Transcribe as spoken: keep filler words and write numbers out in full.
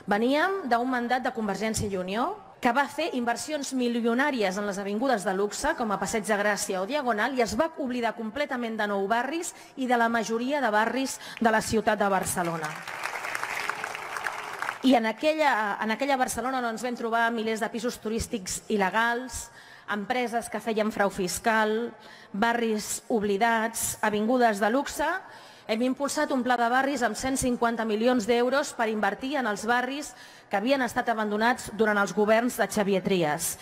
Veníem d'un mandat de Convergència i Unió que va fer inversions milionàries en les avingudes de luxe, com a Passeig de Gràcia o Diagonal, i es va oblidar completament de nou barris i de la majoria de barris de la ciutat de Barcelona. I en aquella, en aquella Barcelona on ens vam trobar milers de pisos turístics il·legals, empreses que feien frau fiscal, barris oblidats, avingudes de luxe, hem impulsat un pla de barris amb cent cinquanta milions d'euros per invertir en els barris que havien estat abandonats durant els governs de Xavier Trias.